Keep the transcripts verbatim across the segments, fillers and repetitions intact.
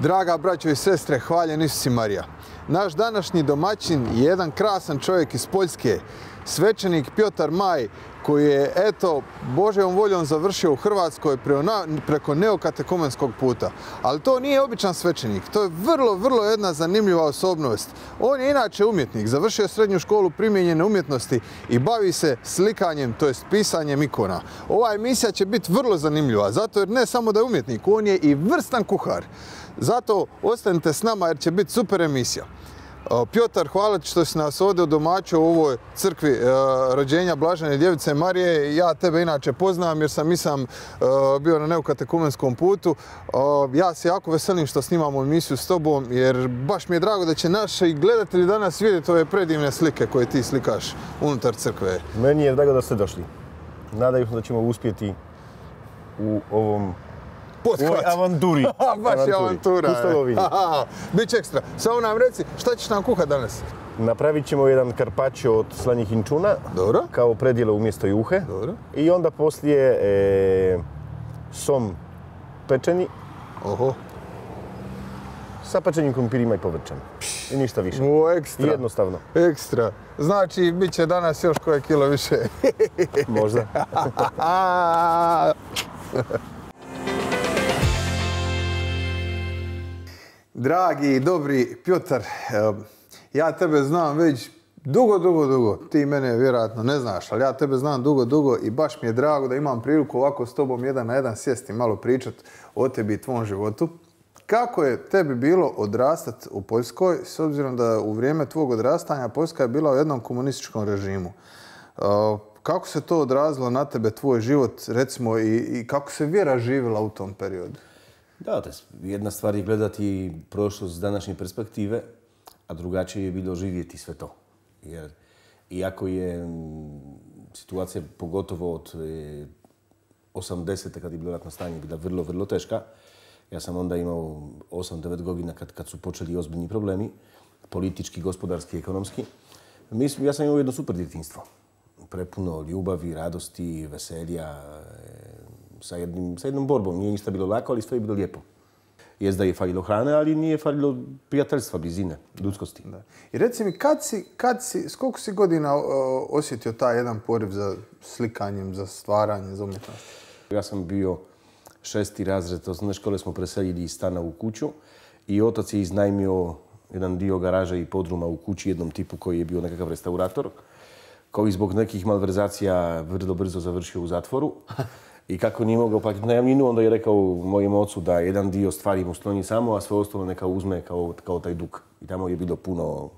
Draga braćo i sestre, hvaljen Isus i Marija. Naš današnji domaćin je jedan krasan čovjek iz Poljske, svećenik Pjotar Maj, koji je, eto, Božjom voljom završio u Hrvatskoj preko neokatekomenskog puta. Ali to nije običan svećenik, to je vrlo, vrlo jedna zanimljiva osobnost. On je inače umjetnik, završio srednju školu primijenjene umjetnosti i bavi se slikanjem, to jest pisanjem ikona. Ova emisija će biti vrlo zanimljiva, zato jer ne samo da je umjetnik, on je i vrstan kuhar. Zato ostanite s nama jer će biti super emisija. Pjotar, hvala ti što si nas ovdje udomaćio u ovoj crkvi e, rođenja Blažene Djevice Marije. Ja tebe inače poznam jer sam i sam e, bio na neokatekumenskom putu. E, ja se jako veselim što snimamo emisiju s tobom jer baš mi je drago da će naši gledatelji danas vidjeti ove predivne slike koje ti slikaš unutar crkve. Meni je drago da ste došli. Nadaju se da ćemo uspjeti u ovom Pothvat. U ovoj avanturi. Baš je avantura. Pustolovini. Biće ekstra. Samo nam reci, šta ćeš nam kuhati danas? Napravit ćemo jedan karpaccio od slanjih inčuna. Dobro. Kao predjelo umjesto juhe. Dobro. I onda poslije e, som pečeni. Oho. Sa pečenim krumpirima i povrćem. I ništa više. O, ekstra. I jednostavno. Ekstra. Znači, bit će danas još koje kilo više. Možda. Dragi i dobri Pjotar, ja tebe znam već dugo, dugo, dugo. Ti mene vjerojatno ne znaš, ali ja tebe znam dugo, dugo i baš mi je drago da imam priliku ovako s tobom jedan na jedan sjesti i malo pričati o tebi i tvom životu. Kako je tebi bilo odrastati u Poljskoj, s obzirom da u vrijeme tvog odrastanja Poljska je bila u jednom komunističkom režimu? Kako se to odrazilo na tebe, tvoj život, recimo, i, i kako se vjera živjela u tom periodu? Da, jedna stvar je gledati prošlost s današnje perspektive, a drugačije je bilo živjeti sve to. Jer iako je situacija pogotovo od osamdesete kad je bilo ratno stanje bila vrlo, vrlo teška, ja sam onda imao osam devet godina kad, kad su počeli ozbiljni problemi, politički, gospodarski, ekonomski. Mislim, ja sam imao jedno super djetinjstvo. Prepuno ljubavi, radosti, veselja, sa, jednim, sa jednom borbom. Nije ništa bilo lako, ali sve je bilo lijepo. Jest da je falilo hrane, ali nije falilo prijateljstva, blizine, ljudskosti. Da. I reci mi, kad si, kad si, s koliko si godina uh, osjetio taj jedan poriv za slikanjem, za stvaranje, za umjetnost? Ja sam bio šesti razred osnovne škole, smo preselili iz stana u kuću i otac je iznajmio jedan dio garaže i podruma u kući jednom tipu koji je bio nekakav restaurator, koji zbog nekih malverzacija vrlo brzo završio u zatvoru. I kako nije mogao platiti najamninu, onda je rekao mojem ocu da jedan dio stvari mu sloni samo, a sve ostalo neka uzme kao, kao taj duk. I tamo je bilo puno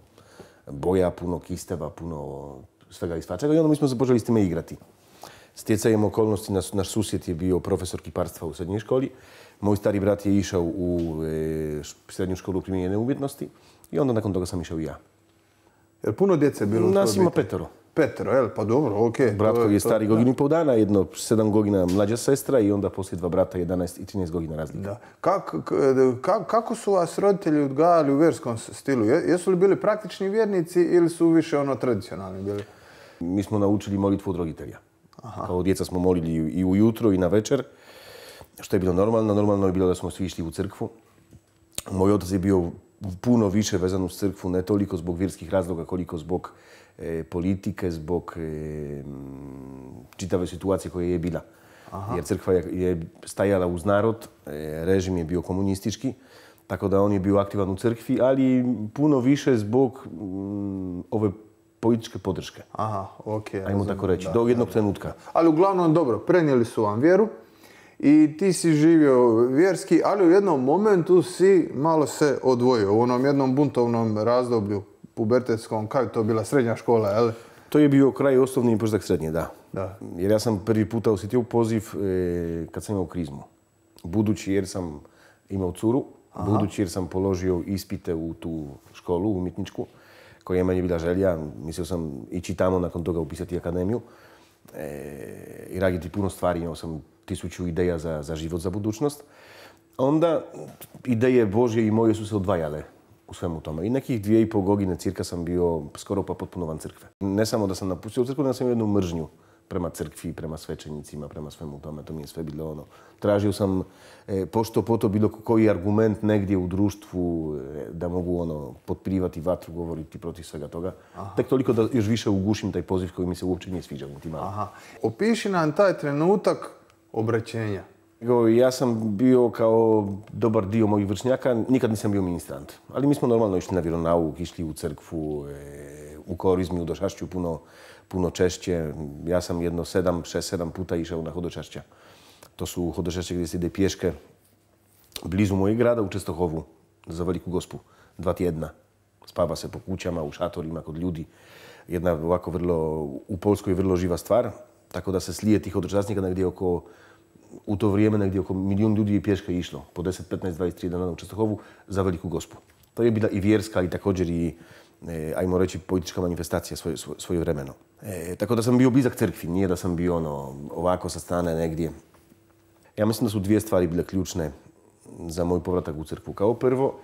boja, puno kisteva, puno svega i svačega. I onda mi smo se počeli s time igrati. Stjecajem okolnosti, naš, naš susjed je bio profesor kiparstva u srednjoj školi. Moj stari brat je išao u e, srednju školu primijenjene umjetnosti i onda nakon toga sam išao i ja. Jer puno djece je bilo u Nas ima petero. Petero, jel? Pa dobro, okej. Okay. Brat koji je stari godinu i pol dana, jedno sedam godina mlađa sestra i onda poslije dva brata jedanaest i trinaest godina razlika. Da. Kako, kako su vas roditelji odgajali u vjerskom stilu? Jesu li bili praktični vjernici ili su više ono tradicionalni bili? Mi smo naučili molitvu od roditelja. Aha. Kao djeca smo molili i ujutro i na večer, što je bilo normalno. Normalno je bilo da smo svi išli u crkvu. Moj otac je bio puno više vezan uz crkvu, ne toliko zbog vjerskih razloga, koliko zbog e, politike, zbog e, čitave situacije koja je bila. Aha. Jer crkva je, je stajala uz narod, e, režim je bio komunistički, tako da on je bio aktivan u crkvi, ali puno više zbog m, ove političke podrške. Aha, okej. Ajmo tako reći, da, do jednog da, trenutka. Ali uglavnom, dobro, prenijeli su vam vjeru i ti si živio vjerski, ali u jednom momentu si malo se odvojio. U onom jednom buntovnom razdoblju pubertetskom, kako je to bila srednja škola, jel? To je bio kraj osnovni i početak srednje, da. Da. Jer ja sam prvi puta osjetio poziv e, kad sam imao krizmu. Budući jer sam imao curu, aha, budući jer sam položio ispite u tu školu umjetničku, koja je meni bila želja. Mislio sam ići tamo, nakon toga upisati akademiju e, i raditi puno stvari. Imao sam tisuću ideja za, za život, za budućnost. Onda ideje Božje i moje su se odvajale u svemu tome. I nekih dvije i pol godine cirka sam bio skoro pa potpuno van crkve. Ne samo da sam napustio crkvu, nego sam jednu mržnju prema crkvi, prema svećenicima, prema svemu tome. To mi je sve bilo ono. Tražio sam e, pošto poto bilo koji argument negdje u društvu e, da mogu ono potpirivati vatru, govoriti protiv svega toga. Aha. Tek toliko da još više ugušim taj poziv koji mi se uopće nije sviđao. Niti malo. Aha. Opiši nam taj trenutak obraćenja. Ja sam bio kao dobar dio mojih vršnjaka, nikad nisam bio ministrant. Ali mi smo normalno išli na vjeronauk, išli u crkvu, e, u korizmi, u došašću puno, puno češće. Ja sam jedno sedam, šest, sedam puta išao na hodočašća. To su hodočašće gdje se ide pješke blizu mojeg grada u Čestohovu za Veliku Gospu. Dva tjedna. Spava se po kućama, u šatorima, kod ljudi. Jedna ovako vrlo, u Poljskoj vrlo živa stvar. Tako da se slije tih hodočasnika negdje oko, u to vrijeme negdje oko milijun ljudi je pješke išlo. Po deset, petnaest, dvadeset tri dana u Čestohovu za Veliku Gospu. To je bila i vjerska i također i, e, ajmo reći, politička manifestacija svoje, svoje, svoje vremeno. E, tako da sam bio blizak crkvi, nije da sam bio ono, ovako sa strane negdje. Ja mislim da su dvije stvari bile ključne za moj povratak u crkvu. Kao prvo,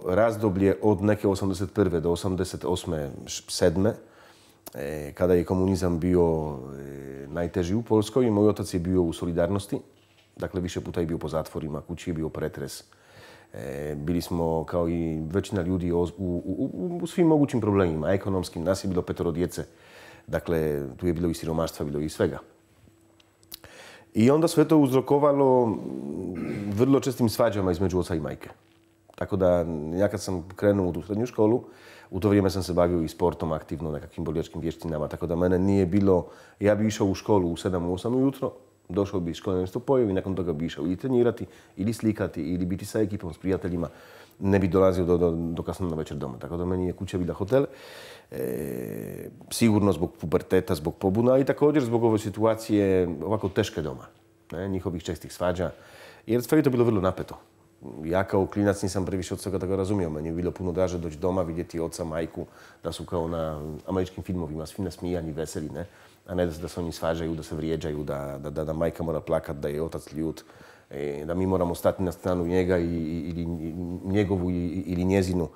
razdoblje od neke osamdeset prve do osamdeset osme, sedme E, kada je komunizam bio e, najteži u Poljskoj, moj otac je bio u Solidarnosti. Dakle, više puta je bio po zatvorima, kući je bio pretres. E, bili smo, kao i većina ljudi, u, u, u, u svim mogućim problemima, ekonomskim. Nas je bilo petoro djece. Dakle, tu je bilo i siromaštva, bilo i svega. I onda sve to uzrokovalo vrlo čestim svađama između oca i majke. Tako da, ja kad sam krenuo u tu srednju školu, u to vrijeme sam se bavio i sportom aktivno, nekakvim borilačkim vještinama, tako da mene nije bilo... Ja bi išao u školu u sedam, osam ujutro, došao bi iz škole nešto pojeo i nakon toga bi išao ili trenirati, ili slikati, ili biti sa ekipom, s prijateljima. Ne bi dolazio do, do, do kasno na večer doma, tako da meni je kuća bila hotel. E, sigurno zbog puberteta, zbog pobuna i također zbog ove situacije ovako teške doma, ne, njihovih čestih svađa, jer sve je to bilo vrlo napeto. Ja kao klinac nisam previše od svega da ga razumio. Meni je bilo puno draže doći doma, vidjeti oca, majku, da su kao na američkim filmovima, svi nasmijani, veseli, ne? A ne da se, da se oni svađaju, da se vrijeđaju, da, da, da, da majka mora plakat, da je otac ljut, e, da mi moramo stati na stranu njega i, ili njegovu i, ili njezinu.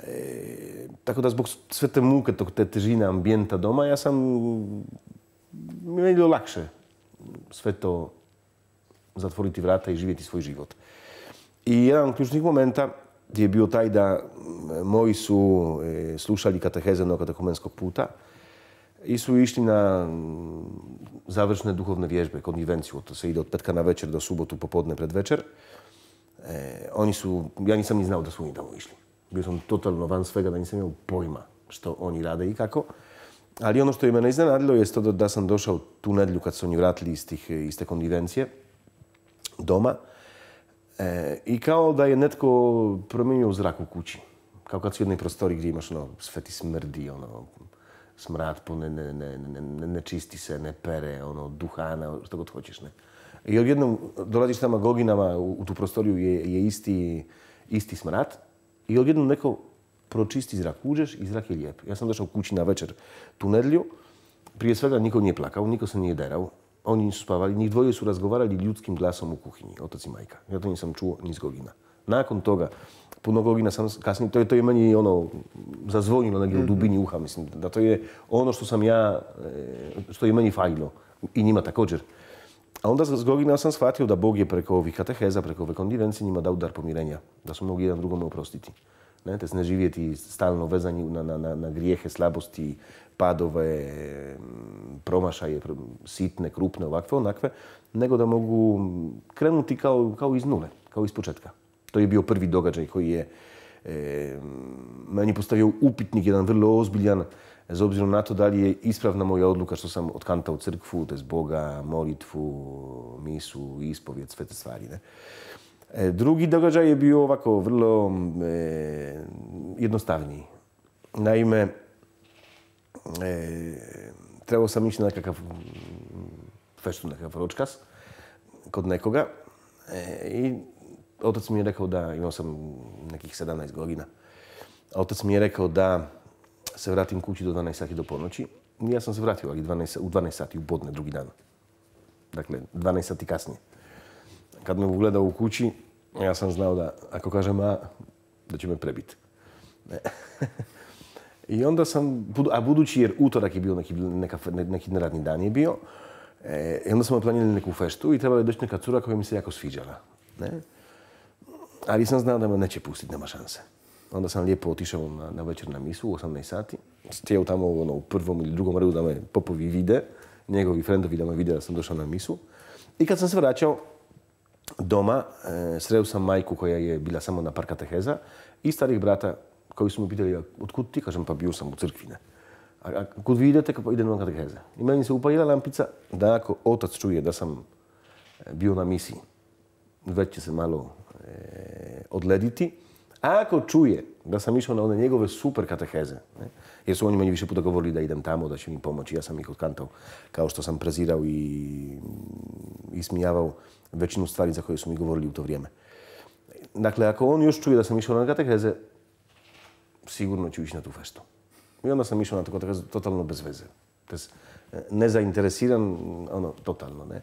E, tako da zbog sve te muke, te težine ambijenta doma, ja sam, mi je bilo lakše sve to zatvoriti vrata i živjeti svoj život. I jedan od ključnih momenta je bio taj da moji su e, slušali kateheze novokatekumenskog puta i su išli na završne duhovne vježbe, konvivenciju. To se ide od petka na večer do subotu popodne pred večer. E, oni su, ja nisam ni znao da su oni tamo išli. Bio sam totalno van svega, da nisam imao pojma što oni rade i kako. Ali ono što je mene iznenadilo je to da, da sam došao tu nedjelju kad su oni vratili iz, tih, iz te konvivencije doma. E, I kao da je netko promijenio zrak u kući. Kao kad su u jednoj prostori gdje imaš ono, sve ti smrdi, ono, smrad po ne, ne, ne, ne, ne čisti se, ne pere, ono, duhana, što god hoćeš, ne. I odjednom dolaziš tamo godinama u, u tu prostoriju je, je isti, isti smrad i odjednom neko pročisti zrak, uđeš i zrak je lijep. Ja sam došao kući na večer tu nedjelju, prije svega niko nije plakao, niko se nije derao. Oni nisu spavali, njih dvoje su razgovarali ljudskim glasom u kuhinji, otac i majka. Ja to nisam čuo ni s Gogina. Nakon toga, puno Gogina sam kasnije, to je, to je meni ono, zazvonilo negdje u dubini uha, mislim, da to je ono što sam ja, što je meni falilo i njima također. A onda s Gogina sam shvatio da Bog je preko ovih kateheza, preko ove konvivencije njima dao dar pomirenja, da su mogli jedan drugome oprostiti. Ne, te se ne živjeti stalno vezani na, na, na, na grijehe, slabosti, padove, promašaje, sitne, krupne, ovakve, onakve, nego da mogu krenuti kao, kao iz nule, kao iz početka. To je bio prvi događaj koji je e, meni postavio upitnik, jedan vrlo ozbiljan, s obzirom na to da li je ispravna moja odluka što sam otkantao crkvu, tez Boga, molitvu, misu, ispovijed, sve te stvari. Ne? E, drugi događaj je bio ovako vrlo e, jednostavniji. Naime, E, trebao sam ići na nekakav feštu, nekakav ročkas kod nekoga e, i otac mi je rekao da, imao sam nekih sedamnaest godina, otac mi je rekao da se vratim kući do dvanaest sati do ponoći. Ja sam se vratio, ali dvanaest, u dvanaest sati, u podne, drugi dan. Dakle, dvanaest sati kasnije. Kad me ugledao u kući, ja sam znao da, ako kažem A, da će me prebiti. I onda sam, a budući jer utorak je bio neki, neka, neki neradni dan je bio, e, i onda smo planirali neku feštu i trebala je doći neka cura koja mi se jako sviđala. Ne? Ali sam znao da me neće pustiti, nema šanse. Onda sam lijepo otišao na, na večer na misu u osamnaest sati. Stijao tamo ono, u prvom ili drugom redu da me popovi vide, njegovi frendovi da me vide da sam došao na misu. I kad sam se vraćao doma, e, sreo sam majku koja je bila samo na par kateheza i starih brata koji su mi pitali, otkud ti? Kažem, pa bio sam u crkvi, ne. A, a kud vi idete? Pa idem na kateheze. I meni se upalila lampica da ako otac čuje da sam bio na misiji, već će se malo e, odlediti. A ako čuje da sam išao na one njegove super kateheze, ne, jer su oni meni više puta govorili da idem tamo, da će mi pomoći, ja sam ih otkantao, kao što sam prezirao i ismijavao većinu stvari za koje su mi govorili u to vrijeme. Dakle, ako on još čuje da sam išao na kateheze, sigurno ću ići na tu feštu. I onda sam išao na tu katehezu totalno bez veze. Nezainteresiran, ono, totalno, ne.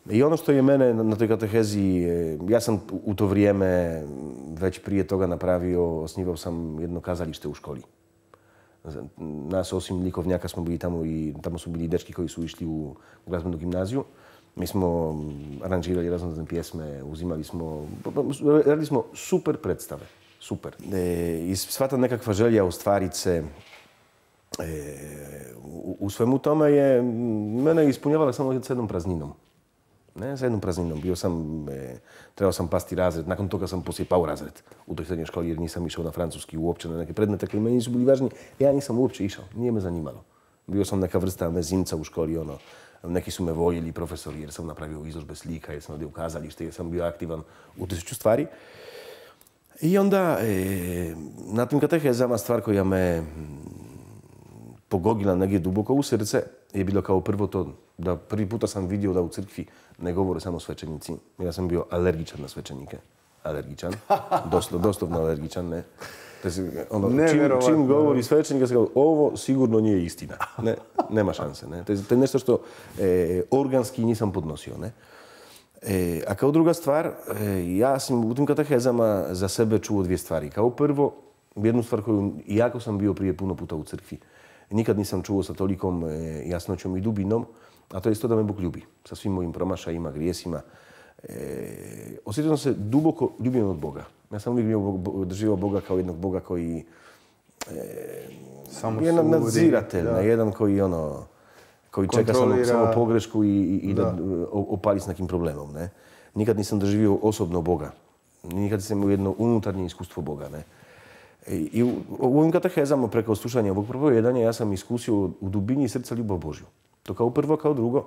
I ono što je mene na toj katehezi, ja sam u to vrijeme već prije toga napravio, osnivao sam jedno kazalište u školi. Nas osim likovnjaka smo bili tamo i tamo su bili dečki koji su išli u glazbenu gimnaziju. Mi smo aranžirali razne pjesme, uzimali smo, radili smo super predstave, super. E, I sva ta nekakva želja ostvariti se e, u, u svemu tome je mene ispunjavala samo s jednom prazninom. Ne, sa jednom prazninom. Bio sam, e, trebao sam pasti razred, nakon toga sam poslije pao razred u toj srednjoj školi jer nisam išao na francuski uopće, na neke predmete koji meni nisu bili važni. Ja nisam uopće išao, nije me zanimalo. Bio sam neka vrsta mezimca u školi, ono, neki su me voljeli profesori jer sam napravio izložbe slika, jer sam odio u kazalište, jer sam bio aktivan u tisuću stvari. I onda, e, na tim katehezama stvar koja me pogogila negdje duboko u srce je bilo kao prvo to da prvi puta sam vidio da u crkvi ne govore samo svećenici. Ja sam bio alergičan na svećenike. Alergičan. Doslo, doslovno alergičan, ne. Ono, čim, čim govori svećenika, se kao, ovo sigurno nije istina. Ne, nema šanse. Ne. To je nešto što e, organski nisam podnosio. Ne. E, a kao druga stvar, e, ja sam u tim katehezama za sebe čuo dvije stvari. Kao prvo, jednu stvar koju, iako sam bio prije puno puta u crkvi, nikad nisam čuo sa tolikom e, jasnoćom i dubinom, a to je isto da me Bog ljubi. Sa svim mojim promašajima, grijesima. E, osjetio sam se duboko ljubljen od Boga. Ja sam uvijek doživio Boga kao jednog Boga koji e, je nadziratelj, na jedan koji ono, koji čeka samo, samo pogrešku i, i, i da, da opali s nekim problemom. Ne? Nikad nisam doživio osobno Boga. Nikad nisam imao jedno unutarnje iskustvo Boga. Ne? I u, u ovim katehezama preko slušanja ovog propovijedanja ja sam iskusio u dubini srca ljubav Božju. To kao prvo, kao drugo.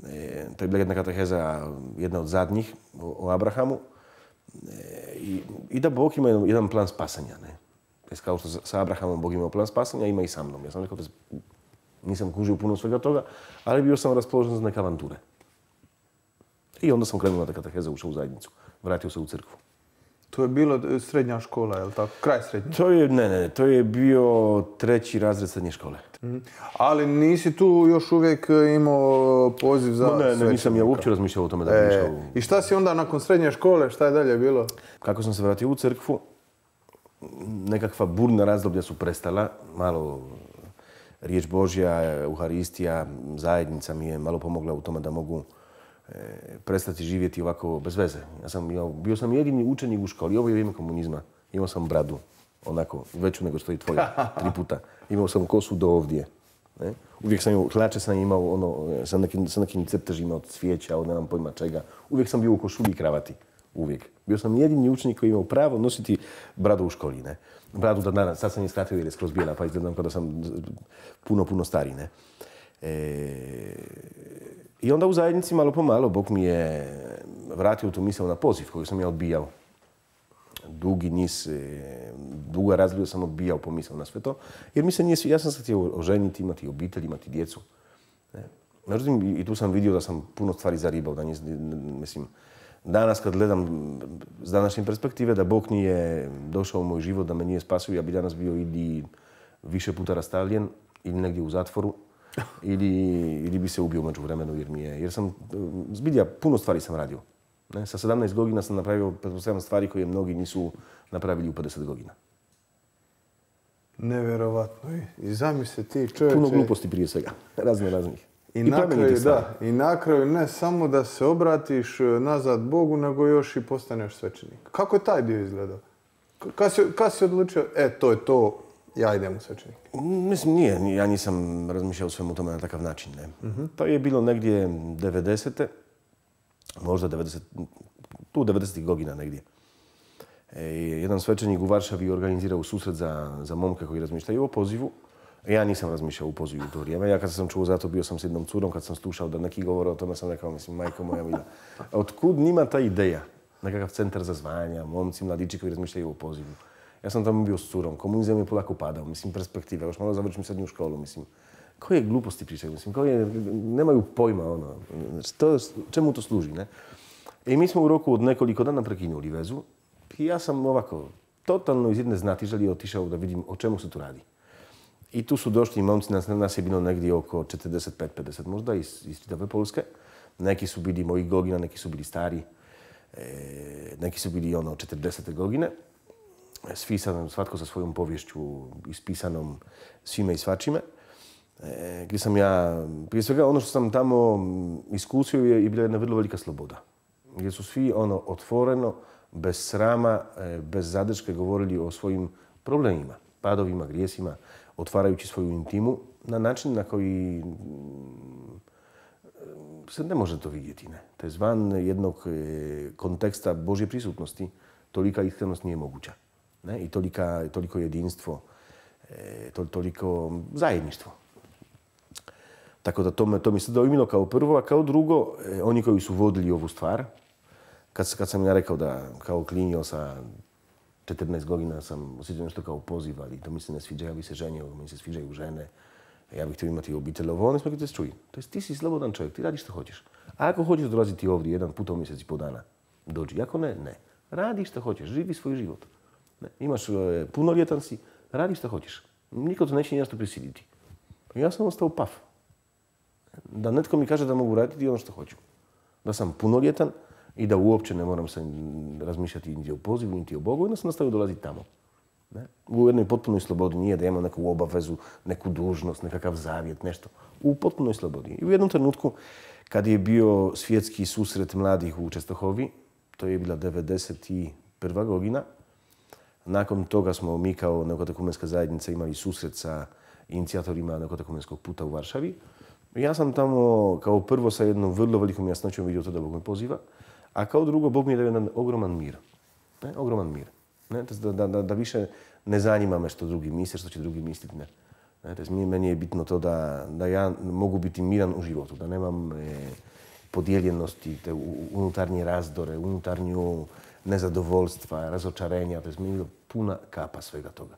E, to je bila jedna kateheza, jedna od zadnjih, o, o Abrahamu. E, i, I da Bog ima jedan, jedan plan spasanja. Ne? Kao što sa Abrahamom Bog ima plan spasanja, ima i sa mnom. Ja sam rekao, nisam kužio puno svega toga, ali bio sam raspoložen za neke avanture. I onda sam krenuo na te kateheze, ušao u zajednicu. Vratio se u crkvu. To je bilo srednja škola, je li tako? Kraj srednje? To je, ne, ne, to je bio treći razred srednje škole. Mm. Ali nisi tu još uvijek imao poziv za no, ne, ne, nisam ja uopće razmišljao o tome da bi išao. E, I šta si onda nakon srednje škole, šta je dalje bilo? Kako sam se vratio u crkvu, nekakva burna razdoblja su prestala. Malo riječ Božja, Euharistija, zajednica mi je malo pomogla u tome da mogu prestati živjeti ovako bez veze. Ja sam, ja, bio sam jedini učenik u školi, ovo je vrijeme komunizma. Imao sam bradu, onako, veću nego što je tvoja, tri puta. Imao sam kosu do ovdje. Ne? Uvijek sam imao, hlače sam imao ono, sa, nekim, sa nekim crtežima od cvijeća, od nemam pojma čega. Uvijek sam bio u košulji i kravati. Uvijek. Bio sam jedini učenik koji imao pravo nositi bradu u školi. Ne? Bradu da danas, sad sam je skratio jer je skroz bijela, pa izgledam kao da sam puno, puno stariji. Ne? E... I onda u zajednici malo po malo Bog mi je vratio tu misao na poziv koju sam ja odbijao. Dugi niz, duga razdoblja sam odbijao po misao na sve to. Jer mi se nije, ja sam se htio oženiti, imati obitelj, imati djecu. Međutim, i tu sam vidio da sam puno stvari zaribao. Da nis, mislim, danas kad gledam s današnje perspektive da Bog nije došao u moj život, da me nije spasio, ja bi danas bio ili više puta rastavljen ili negdje u zatvoru. Ili, ili bi se ubio među vremenu jer mi je, jer sam, zbilja, puno stvari sam radio. Ne? Sa sedamnaest godina sam napravio pretpostavljam stvari koje mnogi nisu napravili u pedeset godina. Nevjerovatno. I zamisli ti čovječe... Puno gluposti prije svega, razne raznih. I, I na kraju, da, i na kraju ne samo da se obratiš nazad Bogu, nego još i postaneš svećenik. Kako je taj dio izgledao? Kad si, kad si odlučio, e, to je to, ja idem u svećenik? Mislim, nije. Ja nisam razmišljao o svemu tome na takav način. Ne. Uh-huh. To je bilo negdje devedesete. Možda devedeset, tu devedesetih godina negdje. E, jedan svećenik u Varšavi organizirao susret za, za momke koji razmišljaju o pozivu. Ja nisam razmišljao u pozivu u to vrijeme. Ja kad sam čuo za to, bio sam s jednom curom, kad sam slušao da neki govore o tome, sam rekao, mislim, majko moja mila. A otkud njima ta ideja? Nekakav centar za zvanja, momci, mladići koji razmišljaju o pozivu. Ja sam tamo bio s curom, komunizam je polako padao, mislim, perspektiva, još malo završim srednju školu, mislim. Koje gluposti pričaju, mislim, koje nemaju pojma, ono, što, čemu to služi, ne? I mi smo u roku od nekoliko dana prekinuli vezu i ja sam ovako, totalno iz jedne znatiželje otišao da vidim o čemu se tu radi. I tu su došli momci, nas, nas je bilo negdje oko četrdeset pet pedeset možda iz, iz čitave Polske. Neki su bili mojih godina, neki su bili stari, e, neki su bili ono četrdesete godine. Svi sam, svatko sa svojom povješću ispisanom svime i svačime. E, gdje sam ja, prije svega ono što sam tamo iskusio je i bila jedna vrlo velika sloboda. Gdje su svi ono otvoreno, bez srama, bez zadrške govorili o svojim problemima, padovima, grijesima, otvarajući svoju intimu na način na koji se ne može to vidjeti. Ne? To je zvan jednog konteksta Božje prisutnosti, tolika iskrenost nije moguća. Ne? I tolika, toliko jedinstvo, to, toliko zajedništvo. Tako da to, me, to mi se dojmilo kao prvo, a kao drugo, oni koji su vodili ovu stvar, kad, kad sam ja rekao da kao klinio sa četrnaest godina sam osjećao nešto kao poziv, ali to mi se ne sviđa, ja bih se ženio, mi se sviđaju žene, ja bih htio imati obitelj, ovo, oni smo te čuju. To jest, ti si slobodan čovjek, ti radiš što hoćeš. A ako hoćeš dolaziti ovdje jedan put u mjesec i po dana, dođi. Ako ne, ne. Radi što hoćeš, živi svoj život. Ne. Imaš e, punoljetan si, radi što hoćeš. Niko te neće nešto prisiliti. Ja sam ostao paf. Da netko mi kaže da mogu raditi ono što hoću. Da sam punoljetan i da uopće ne moram se razmišljati niti o pozivu, niti o Bogu, onda sam nastavio dolaziti tamo. Ne? U jednoj potpunoj slobodi, nije da imam neku obavezu, neku dužnost, nekakav zavjet, nešto. U potpunoj slobodi. I u jednom trenutku, kad je bio svjetski susret mladih u Čestohovi, to je bila devedeset prva godina, nakon toga smo mi kao neokatekumenska zajednica imali susret sa inicijatorima neokatekumenskog puta u Varšavi. Ja sam tamo kao prvo sa jednom vrlo velikom jasnoćom vidio to da Bog me poziva, a kao drugo Bog mi je dao jedan ogroman mir. Ne? Ogroman mir. Ne? Da, da, da više ne zanima me što drugi misle, što će drugi misliti. Ne? Ne? Meni je bitno to da, da ja mogu biti miran u životu, da nemam e, podijeljenosti, te unutarnje razdore, unutarnju nezadovoljstva, razočarenja. To je meni puna kapa svega toga.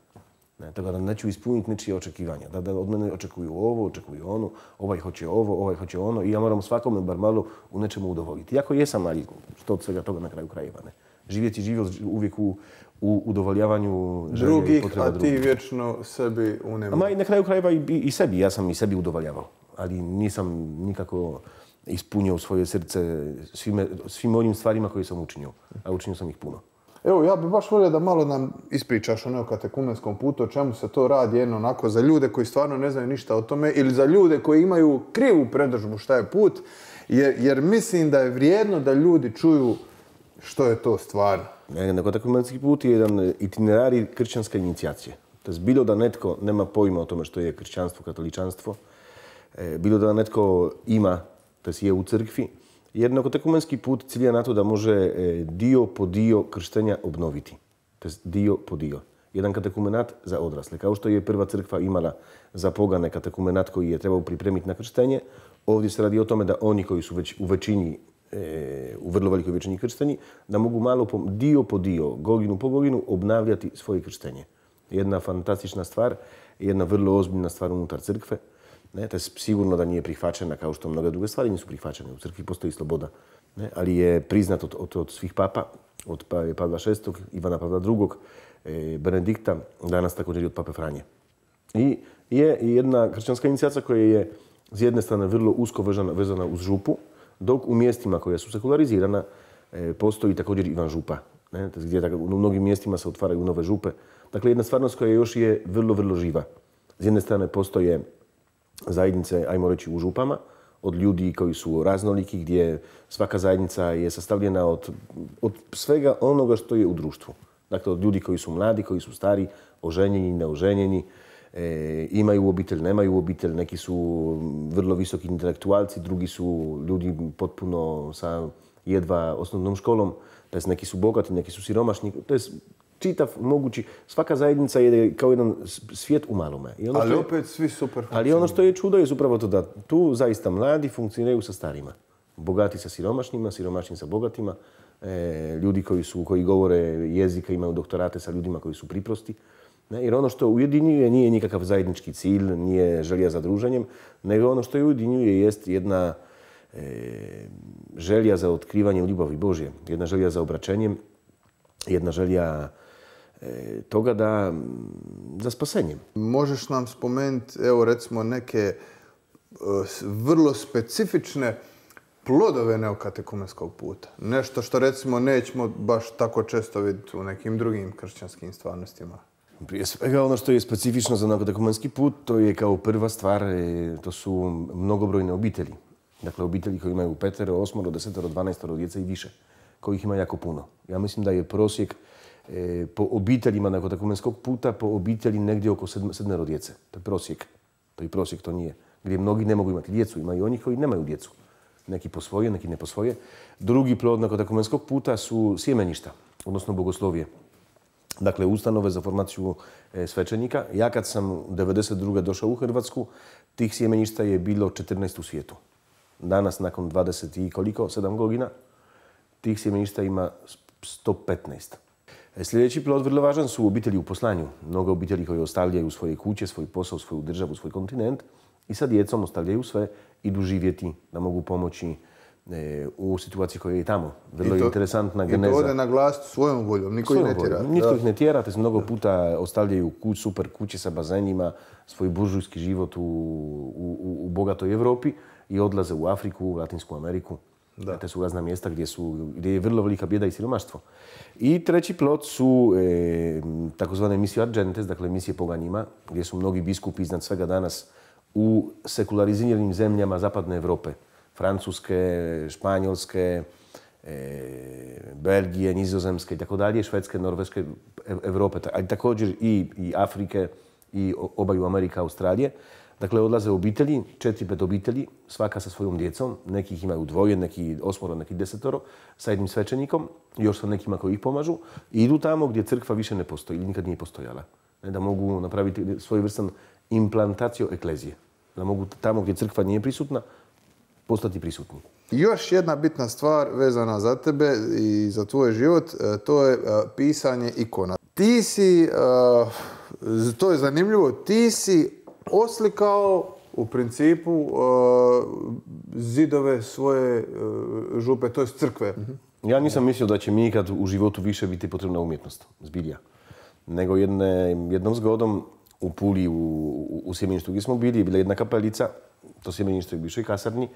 Ne, tako da neću ispuniti ničije očekivanja. Da, da od mene očekuju ovo, očekuju ono, ovaj hoće ovo, ovaj hoće ono i ja moram svakome bar malo u nečemu udovoljiti. Iako jesam, ali što od svega toga na kraju krajeva. Ne. Živjeti život uvijek u, u udovoljavanju želje i potreba drugih. A ti vječno sebi unemio. Ma i na kraju krajeva i, i sebi. Ja sam i sebi udovoljavao. Ali nisam nikako ispunio svoje srce svime, svim onim stvarima koje sam učinio. A učinio sam ih puno. Evo, ja bih baš volio da malo nam ispričaš o neokatekumenskom putu, o čemu se to radi, jedno onako za ljude koji stvarno ne znaju ništa o tome ili za ljude koji imaju krivu predodžbu šta je put, jer, jer mislim da je vrijedno da ljudi čuju što je to stvarno. Neokatekumenski put je jedan itinerarij kršćanske inicijacije. To je bilo da netko nema pojma o tome što je kršćanstvo, katoličanstvo, bilo da netko ima, to je u crkvi, jer neokatekumenski put cilja na to da može dio po dio krštenja obnoviti. To je dio po dio. Jedan katekumenat za odrasle. Kao što je prva crkva imala za pogane katekumenat koji je trebao pripremiti na krštenje, ovdje se radi o tome da oni koji su već u većini, u vrlo velikoj većini kršteni, da mogu malo po, dio po dio, godinu po godinu obnavljati svoje krštenje. Jedna fantastična stvar, jedna vrlo ozbiljna stvar unutar crkve. Ne, to je sigurno da nije prihvaćena kao što mnoge druge stvari nisu prihvaćene. U crkvi postoji sloboda, ne, ali je priznat od, od, od svih papa, od Pavla šestog, Ivana Pavla drugog, e, Benedikta, danas također i od Pape Franje. I je jedna kršćanska inicijacija koja je s jedne strane vrlo usko vezana, vezana uz župu, dok u mjestima koja su sekularizirana e, postoji također Ivan župa. Ne, gdje, u mnogim mjestima se otvaraju nove župe, Dakle, jedna stvarnost koja još je vrlo, vrlo živa. S jedne strane postoje zajednice, ajmo reći, u župama, od ljudi koji su raznoliki, gdje svaka zajednica je sastavljena od, od svega onoga što je u društvu. Dakle, od ljudi koji su mladi, koji su stari, oženjeni, neoženjeni, e, imaju obitelj, nemaju obitelj, neki su vrlo visoki intelektualci, drugi su ljudi potpuno sa jedva osnovnom školom, to jest neki su bogati, neki su siromašni, to je čitav mogući, svaka zajednica je kao jedan svijet u malome. Ono ali je, opet svi super funkcioniraju. Ali ono što je čudo je upravo to da tu zaista mladi funkcioniraju sa starima. Bogati sa siromašnima, siromašni sa bogatima, e, ljudi koji, su, koji govore jezika, imaju doktorate sa ljudima koji su priprosti. Ne? Jer ono što ujedinjuje nije nikakav zajednički cilj, nije želja za druženjem, nego ono što je ujedinjuje jest jedna e, želja za otkrivanje ljubavi Božje, jedna želja za obraćenjem, jedna želja e, toga da za spasenjem. Možeš nam spomenuti, evo recimo, neke e, vrlo specifične plodove neokatekumenskog puta? Nešto što recimo nećemo baš tako često vidjeti u nekim drugim kršćanskim stvarnostima. Prije svega ono što je specifično za neokatekumenski put, to je kao prva stvar, to su mnogobrojne obitelji. Dakle, obitelji koji imaju petero, osmoro, desetero, dvanaestoro djece i više, kojih ima jako puno. Ja mislim da je prosjek e, po obiteljima neokatekumenskog puta, po obitelji negdje oko sedmero djece. To je prosjek. To je prosjek, to nije. Gdje mnogi ne mogu imati djecu, imaju oni koji nemaju djecu. Neki posvoje, neki ne posvoje. Drugi plod neokatekumenskog puta su sjemeništa, odnosno bogoslovije. Dakle, ustanove za formaciju e, svećenika. Ja kad sam devedeset druge došao u Hrvatsku, tih sjemeništa je bilo četrnaest u svijetu. Danas, nakon dvadeset i koliko, sedam godina, tih sjemeništa ima sto petnaest. E, sljedeći plod vrlo važan su obitelji u poslanju. Mnogo obitelji koji ostavljaju svoje kuće, svoj posao, svoju državu, svoj kontinent i sa djecom ostavljaju sve, idu živjeti da mogu pomoći e, u situaciji koja je i tamo. Vrlo je interesantna geneza. I to ode naglasiti svojom voljom, niko ih ne tjera. Nitko ih ne tjera, te mnogo puta ostavljaju kuć, super kuće sa bazenima, svoj buržujski život u, u, u bogatoj Europi i odlaze u Afriku, u Latinsku Ameriku. Da. Te su razna mjesta gdje, su, gdje je vrlo velika bijeda i siromaštvo. I treći plod su e, takozvane misije argentes, dakle misije poganjima, gdje su mnogi biskupi iznad svega danas u sekulariziranim zemljama zapadne Europe. Francuske, Španjolske, e, Belgije, Nizozemske i tako dalje, Švedske, Norveške, Europe, ali također i, i Afrike i obaju Amerika, Australije. Dakle, odlaze obitelji, četiri, pet obitelji, svaka sa svojom djecom, nekih imaju dvoje, neki osmoro, neki desetoro, sa jednim svećenikom, još sa nekima koji ih pomažu, i idu tamo gdje crkva više ne postoji ili nikad nije postojala. Da mogu napraviti svojevrstan implantaciju eklezije. Da mogu tamo gdje crkva nije prisutna, postati prisutni. Još jedna bitna stvar vezana za tebe i za tvoj život, to je pisanje ikona. Ti si, to je zanimljivo, ti si oslikao u principu zidove svoje župe, to je crkve. Ja nisam mislio da će mi ikad u životu više biti potrebna umjetnost, zbilja. Nego jedne, jednom zgodom u Puli, u, u, u sjemeništu gdje smo bili, je bila jedna kapelica, to sjemenište je u bivšoj kasarni,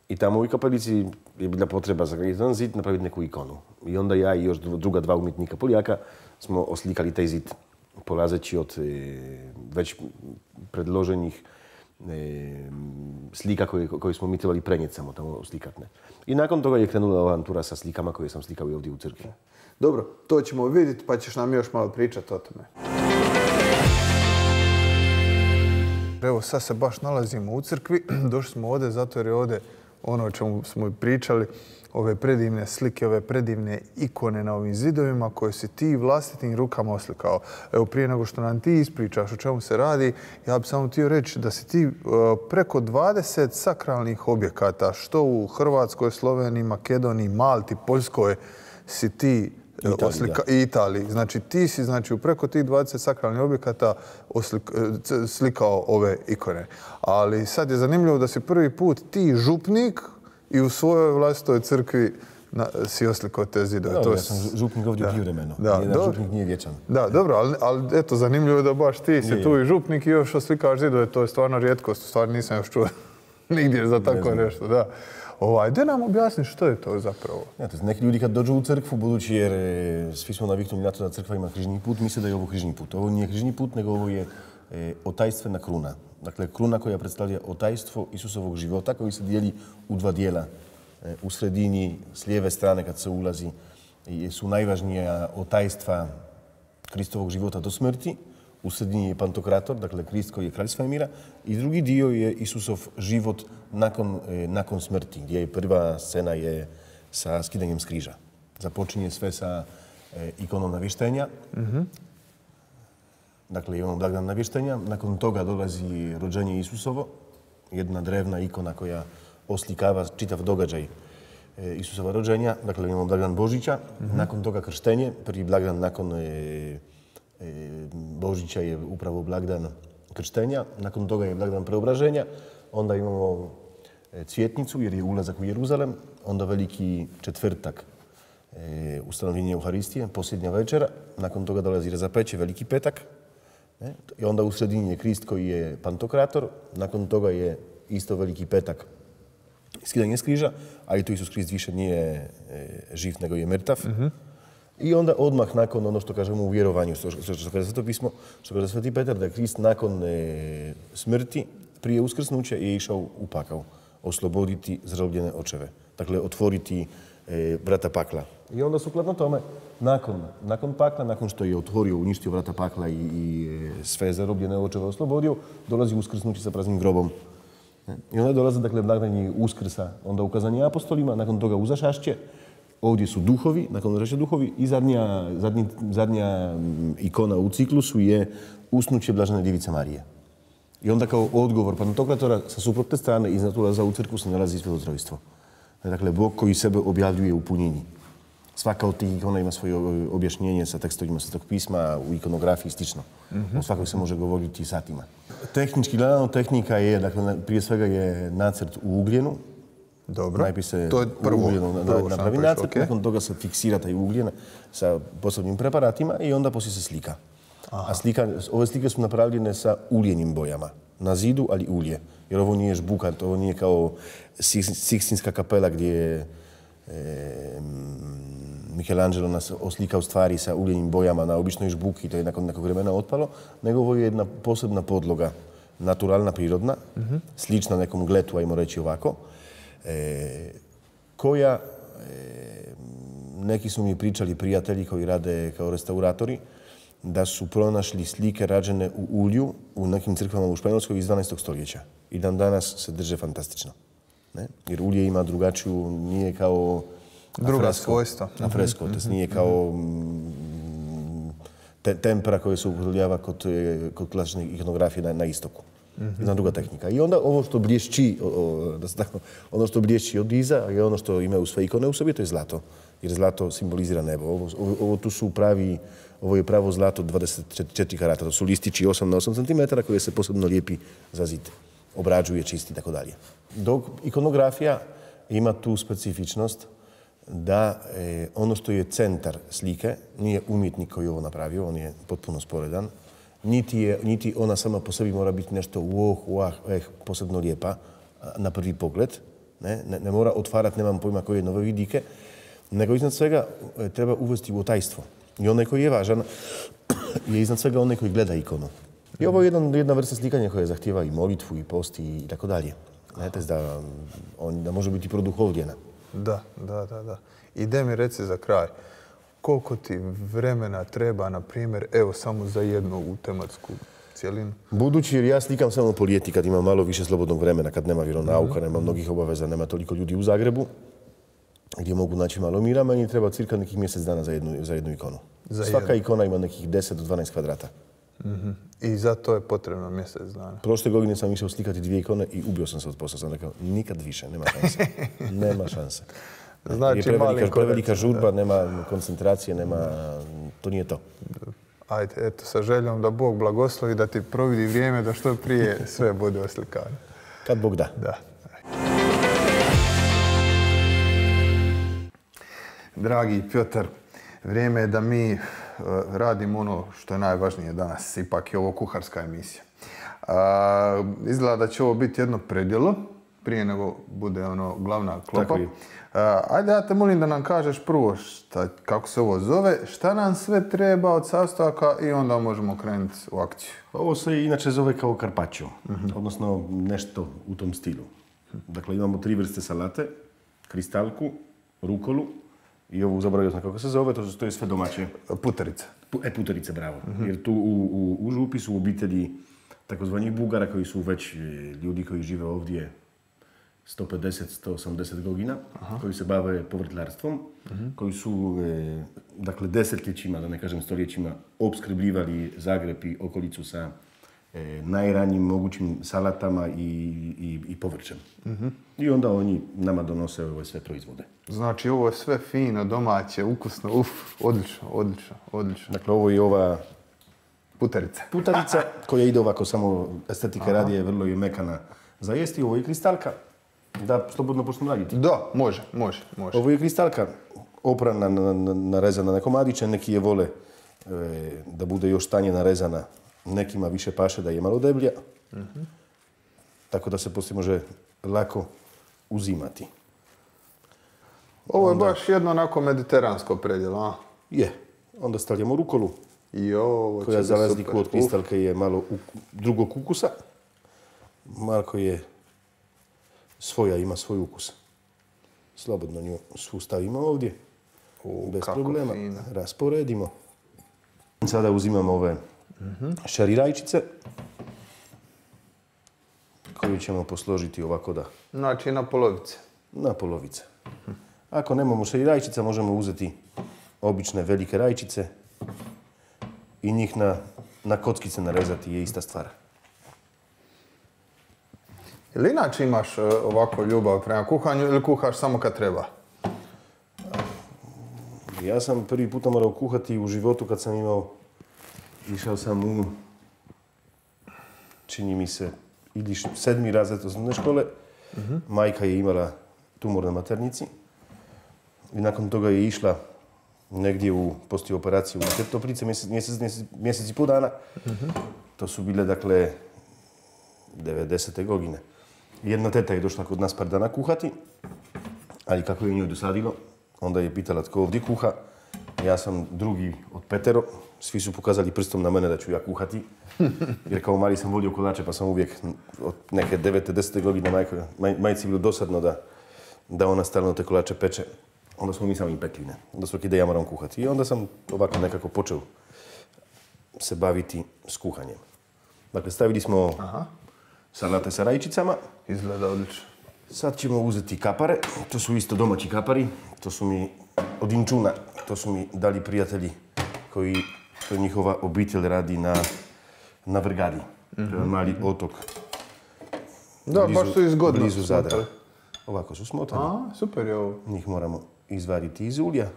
i tamo u kapelici je bila potreba za jedan zid napraviti neku ikonu. I onda ja i još druga dva umjetnika Poljaka smo oslikali taj zid, polazeći od e, već predloženih e, slika koje, koje smo mi trebali prenijeti samo tamo slikatne. I nakon toga je krenula avantura sa slikama koje sam slikao i ovdje u crkvi. Dobro, to ćemo vidjeti pa ćeš nam još malo pričati o tome. Evo, sad se baš nalazimo u crkvi. Došli smo ovdje zato jer je ovdje ono o čemu smo pričali, ove predivne slike, ove predivne ikone na ovim zidovima koje si ti vlastitim rukama oslikao. Evo, prije nego što nam ti ispričaš o čemu se radi, ja bih samo htio reći da si ti uh, preko dvadeset sakralnih objekata, što u Hrvatskoj, Sloveniji, Makedoniji, Malti, Poljskoj, si ti Italiji, oslika, i Italiji. Znači, ti si znači, u preko tih dvadeset sakralnih objekata oslik, slikao ove ikone. Ali sad je zanimljivo da si prvi put ti župnik i u svojoj vlastitoj crkvi na, si oslikao te zidove. Da, to ja sam župnik ovdje privremeno. Da, Nijedan župnik nije vječan. Da, dobro, ali, ali eto, zanimljivo je da baš ti si tu i župnik i još oslikaš zidove. To je stvarno rijetkost, stvarno nisam još čuo. nigdje za tako nešto, da. Ovaj, da nam objasni što je to zapravo? Znate, neki ljudi kad dođu u crkvu, budući jer e, svi smo naviknuli na to da crkva ima križni put, misle da je ovo križni put. Ovo nije križni put, nego ovo je e, otajstvena kruna. Dakle, kruna koja predstavlja otajstvo Isusovog života, koji se dijeli u dva dijela. E, u sredini, s lijeve strane kad se ulazi, su najvažnija otajstva Kristovog života do smrti. U sredini je Pantokrator, dakle Krist koji je kralj svemira, i drugi dio je Isusov život nakon, e, nakon smrti, gdje je prva scena je sa skidanjem s križa. Započinje sve sa e, ikonom navještenja. Mm-hmm. Dakle, imamo blagdan navještenja. Nakon toga dolazi rođenje Isusovo, jedna drevna ikona koja oslikava čitav događaj e, Isusova rođenja. Dakle, imamo blagdan Božića. Mm-hmm. Nakon toga krštenje, prvi blagdan nakon e, Božića je upravo blagdan krštenja, nakon toga je blagdan preobraženja, onda imamo cvjetnicu jer je ulazak u Jeruzalem, onda veliki četvrtak, e, ustanovljenje Euharistije, posljednja večera, nakon toga dolazi razapeće, veliki petak, ne? I onda u sredini je Krist koji je Pantokrator, nakon toga je isto veliki petak, skidanje s križa, ali tu Isus Krist više nije e, živ nego je mrtav. Mm-hmm. I onda odmah nakon ono što kažemo u vjerovanju, što, što, što kaže Sveto pismo, što kaže Sveti Petar, da je Krist nakon e, smrti, prije uskrsnuća je išao u pakao, osloboditi zarobljene očeve. Dakle, otvoriti e, vrata pakla. I onda sukladno tome, nakon, nakon pakla, nakon što je otvorio, uništio vrata pakla i, i e, sve zarobljene očeve oslobodio, dolazi uskrsnući sa praznim grobom. I onda dolaze, dakle, blagdani uskrsa, onda ukazanje apostolima, nakon toga uzašašće. Ovdje su duhovi, nakon uzašašće duhovi, i zadnja, zadnji, zadnja ikona u ciklusu je usnuće Blažene Djevice Marije. I onda kao odgovor Pantokratora sa suprotne strane iznad ulaza u crkvu se nalazi Svetotrojstvo. Dakle, Bog koji sebe objavljuje u punini. Svaka od tih ikona ima svoje objašnjenje sa tekstovima Svetog pisma, u ikonografiji i slično. Mm-hmm. O svakoj se može govoriti satima. Tehnički gledano, tehnika je, dakle, prije svega je nacrt u ugljenu. Dobro, najprije se to je prvo, u ugljenu prvo napravi nacrt, okay. Nakon toga se fiksira taj ugljen sa posebnim preparatima i onda poslije se slika. Aha. A slika, ove slike su napravljene sa uljenim bojama. Na zidu, ali ulje. Jer ovo nije žbuka, ovo nije kao Sikstinska kapela gdje je e, Michelangelo nas oslikao stvari sa uljenim bojama na običnoj žbuki, to je nakon nekog vremena otpalo, nego ovo je jedna posebna podloga, naturalna, prirodna, mm-hmm. slična nekom gletu, ajmo reći ovako, e, koja, e, neki su mi pričali prijatelji koji rade kao restauratori, da su pronašli slike rađene u ulju u nekim crkvama u Španjolskoj iz dvanaestog stoljeća. I dan danas se drže fantastično. Ne? Jer ulje ima drugačiju, nije kao druga svojstva. Na fresko, mm-hmm. to nije kao mm, te, tempera koje se upotrebljava kod, kod klasične ikonografije na, na istoku. Mm-hmm. Jedna druga tehnika. I onda ovo što blješći, o, o, da se tako, ono što blješći od iza je ono što imaju sve ikone u sebi, to je zlato. Jer zlato simbolizira nebo. Ovo, ovo, ovo tu su pravi, ovo je pravo zlato dvadeset četiri karata. To su listići osam na osam centimetara koje se posebno lijepi za zid. Obrađuje, čisti i tako dalje. Dok ikonografija ima tu specifičnost da e, ono što je centar slike nije umjetnik koji je ovo napravio, on je potpuno sporedan. Niti, je, niti ona sama po sebi mora biti nešto wow, wow, eh, posebno lijepa na prvi pogled. Ne, ne, ne mora otvarati, nemam pojma koje nove vidike, nego iznad svega e, treba uvesti u otajstvo. I onaj koji je važan je iznad svega onaj koji gleda ikonu. I ovo je jedna, jedna vrsta slikanja koja zahtijeva i molitvu, i post, i tako dalje. Znate, da, on, da može biti produhovljena. Da, da, da, da. I da mi reci za kraj, koliko ti vremena treba, na primjer, evo, samo za jednu u tematsku cijelinu? Budući jer ja slikam samo po ljeti kad ima malo više slobodnog vremena, kad nema vjeronauka, mm-hmm. nema mnogih obaveza, nema toliko ljudi u Zagrebu, gdje mogu naći malo mira, meni treba cirka nekih mjesec dana za jednu, za jednu ikonu. Za Svaka jednu. Ikona ima nekih deset do dvanaest kvadrata. Mm-hmm. I za to je potrebno mjesec dana. Prošle godine sam išao slikati dvije ikone i ubio sam se od posla. Sam rekao, nikad više, nema šanse. Nema šanse. Znači, je prevelika, prevelika žurba, nema koncentracije, nema, to nije to. Ajde, eto, sa željom da Bog blagoslovi, da ti providi vrijeme, da što prije sve bude oslikano. Kad Bog da. Da. Dragi Pjotar, vrijeme je da mi uh, radimo ono što je najvažnije danas. Ipak je ovo kuharska emisija. Uh, izgleda da će ovo biti jedno predjelo, prije nego bude ono glavna klopa. Tako je. Uh, ajde, ja te molim da nam kažeš prvo šta, kako se ovo zove, šta nam sve treba od sastojaka i onda možemo krenuti u akciju. Ovo se inače zove kao carpaccio, odnosno nešto u tom stilu. Dakle, imamo tri vrste salate, kristalku, rukolu i ovu, zaboravio sam kako se zove, to, to je sve domaće. Puterica. E, puterice, bravo. Jer tu u, u, u župi su obitelji takozvanih Bugara koji su već ljudi koji žive ovdje sto pedeset do sto osamdeset godina, aha, koji se bave povrtlarstvom, uh-huh, koji su e, dakle desetljećima, da ne kažem stoljećima, opskrbljivali Zagreb i okolicu sa e, najranjim mogućim salatama i, i, i povrćem. Uh-huh. I onda oni nama donose ove sve proizvode. Znači ovo je sve fino, domaće, ukusno, uf, odlično, odlično, odlično. Dakle, ovo je ova puterica. Putarica koja ide ovako, samo estetike radi je vrlo je mekana za jesti. Ovo je kristalka. Da, slobodno počnem raditi. Da, može, može, može. Ovo je kristalka oprana, narezana na komadiće, neki je vole e, da bude još tanje narezana, nekima više paše da je malo deblja, uh-huh, tako da se poslije može lako uzimati. Ovo je onda baš jedno onako mediteransko predjelo, a? Je. Onda stavljamo rukolu, I ovo koja za razliku od kristalke je malo u, drugog ukusa. Marko je svoja, ima svoj ukus. Slobodno nju svu stavimo ovdje, U, bez problema. Fina. Rasporedimo. Sada uzimamo ove uh-huh, šarirajčice, koju ćemo posložiti ovako da... Znači na polovice. Na polovice. Uh-huh. Ako nemamo šarirajčica, možemo uzeti obične velike rajčice i njih na, na kockice narezati, je ista stvar. Ili inače imaš ovako ljubav prema kuhanju ili kuhaš samo kad treba? Ja sam prvi puta morao kuhati u životu kad sam imao, išao sam u, čini mi se, ili sedmi razred osnovne škole. Uh-huh. Majka je imala tumor na maternici i nakon toga je išla negdje u poslije operaciju u Toplice mjesec, mjesec, mjesec, mjesec i pol dana. Uh-huh. To su bile, dakle, devedesete godine. Jedna teta je došla kod nas par dana kuhati, ali kako je njoj dosadilo, onda je pitala tko ovdje kuha. Ja sam drugi od petero, svi su pokazali prstom na mene da ću ja kuhati. Jer kao mali sam volio kolače, pa sam uvijek od neke devete, desete godine majko, maj, majci bilo dosadno da, da ona stalno te kolače peče. Onda smo mi sami pekli, ne. Onda svaki dan ja moram kuhati. I onda sam ovako nekako počeo se baviti s kuhanjem. Dakle, stavili smo Aha. salate sa rajčicama. Izgleda odlično. Sad ćemo uzeti kapare. To su isto domaći kapari. To su mi od Inčuna. To su mi dali prijatelji koji, to njihova obitelj radi na, na Vrgadi. Mm-hmm. To je mali otok. Da, blizu, baš su izgodno. Blizu Zadra. Ovako su smotani. A, super je ovo. Njih moramo izvariti iz ulja.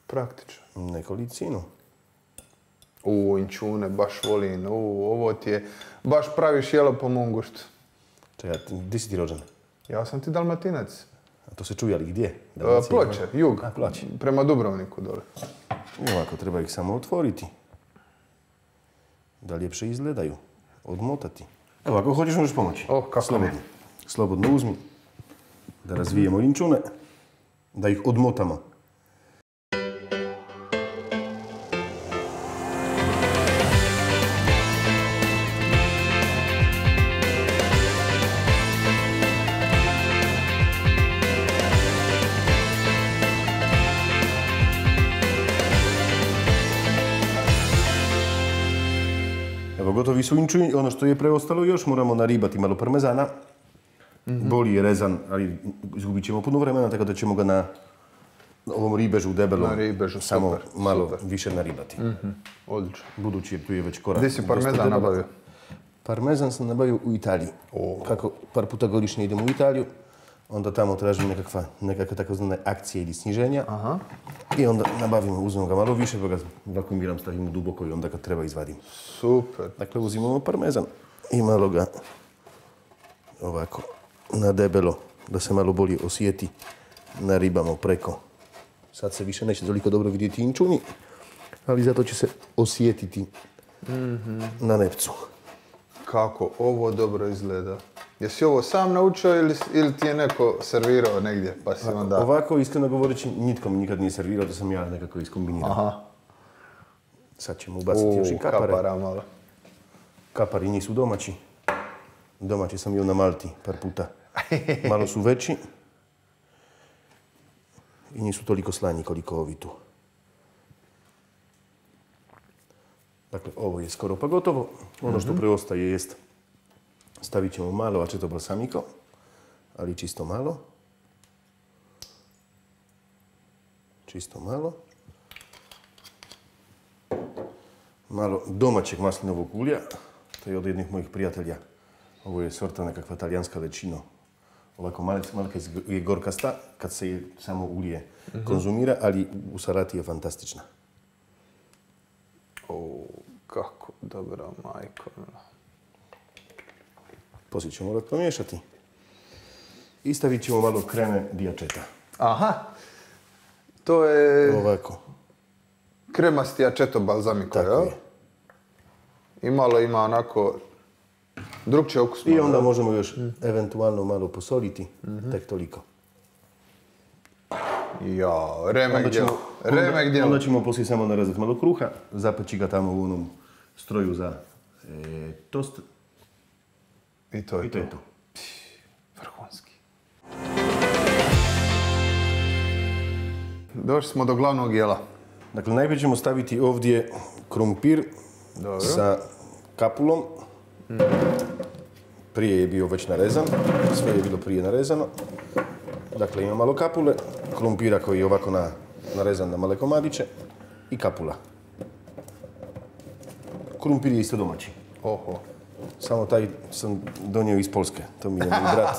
Praktično. Nekolicinu. U, Inčune, baš volim. U, ovo ti je, baš praviš jelo po mom guštu. Čekaj, gdje si ti rođen? Ja sam ti Dalmatinac. A to se čuje, ali gdje? A, Ploče, jug. A, Ploče. Prema Dubrovniku dole. I ovako, treba ih samo otvoriti. Da ljepše izgledaju. Odmotati. Evo, ako hoćeš, možeš pomoći. Oh, kako Slobodno. ne. Slobodno uzmi. Da razvijemo inčune. Da ih odmotamo. Gotovi su inčuni, ono što je preostalo još moramo naribati malo parmezana. Mm-hmm. Boli je rezan, ali izgubit ćemo puno vremena, tako da ćemo ga na ovom ribežu debelom na ribežu, samo super, malo super. više naribati. Mm-hmm. Odlično. Budući je tu je već korak. Gdje si parmezan nabavio? Parmezan sam nabavio u Italiji. Oh. Kako par puta godišnje idemo u Italiju, onda tamo tražim nekakva, nekakve takozvane akcije ili sniženja. Aha. I onda nabavimo, uzmemo ga malo više, pa ga vakuumiram, stavimo duboko i onda ga treba izvadimo. Super. Dakle, uzimamo parmezan i malo ga ovako na debelo, da se malo bolje osjeti, naribamo preko. Sad se više neće toliko dobro vidjeti inčuni, ali zato će se osjetiti mm-hmm. na nepcu. Kako ovo dobro izgleda. Jesi ovo sam naučio ili, ili ti je neko servirao negdje, pa si onda... Ovako, iskreno govoreći, nitko mi nikad nije servirao, da sam ja nekako iskombinirao. Aha. Sad ćemo ubaciti još i kapare. Kapara malo. Kapari nisu domaći. Domaći sam bio na Malti par puta. Malo su veći. I nisu toliko slanji koliko ovi tu. Dakle, ovo je skoro pa gotovo. Ono što preostaje jest stavit ćemo malo aceto balsamico, ali čisto malo. Čisto malo. Malo domaćeg maslinovog ulja. To je od jednih mojih prijatelja. Ovo je sorta nekakva talijanska lečino. Ovako malka je gorkasta kad se samo ulje konzumira, ali u salati je fantastična. O, kako dobra majko. Poslije ćemo morati pomiješati. I stavit ćemo malo kreme di aceto. Aha. To je Ovako. kremasti aceto balsamico, Tako jel? je. I malo ima onako drugčije ukus. I onda možemo još eventualno malo posoliti. Tek toliko. Ja, remek Onda djelo. ćemo, Remek onda, djelo. onda ćemo poslije samo narezati malo kruha, zapeći ga tamo u onom stroju za e, tost. I to je I to je to. vrhunski. Došli smo do glavnog jela. Dakle, najprije ćemo staviti ovdje krumpir Dobro. sa kapulom. Prije je bio već narezan, sve je bilo prije narezano. Dakle, ima malo kapule, krumpira koji je ovako na, narezan na male komadiće i kapula. Krumpir je isto domaći. Oho. Samo taj sam donio iz Poljske, to mi je moj brat.